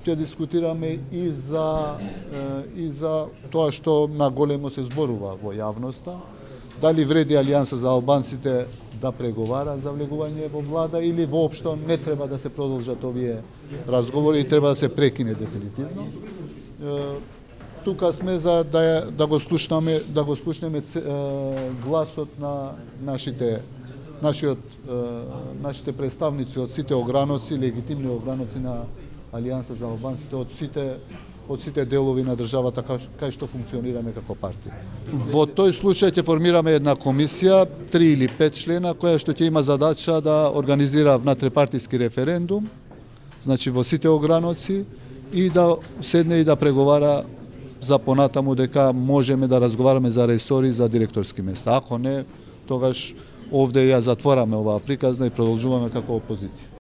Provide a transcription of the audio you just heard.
ќе дискутираме и за тоа што наголемо се зборува во јавноста. Дали вреди Алијанса за албанците да преговара за влегување во влада или воопшто не треба да се продолжат овие разговори и треба да се прекине дефинитивно. Тука сме за да го слушнеме гласот на нашите представници од сите ограноци, легитимни ограноци на Алијанса за албанците, од сите делови на државата кај што функционираме како партија. Во тој случај ќе формираме една комисија, 3 или 5 члена, која што ќе има задача да организира внатрепартиски референдум, значи во сите ограноци, и да седне и да преговара за понатаму дека можеме да разговараме за ресори за директорски места. Ако не, тогаш овде ја затвораме оваа приказна и продолжуваме како опозиција.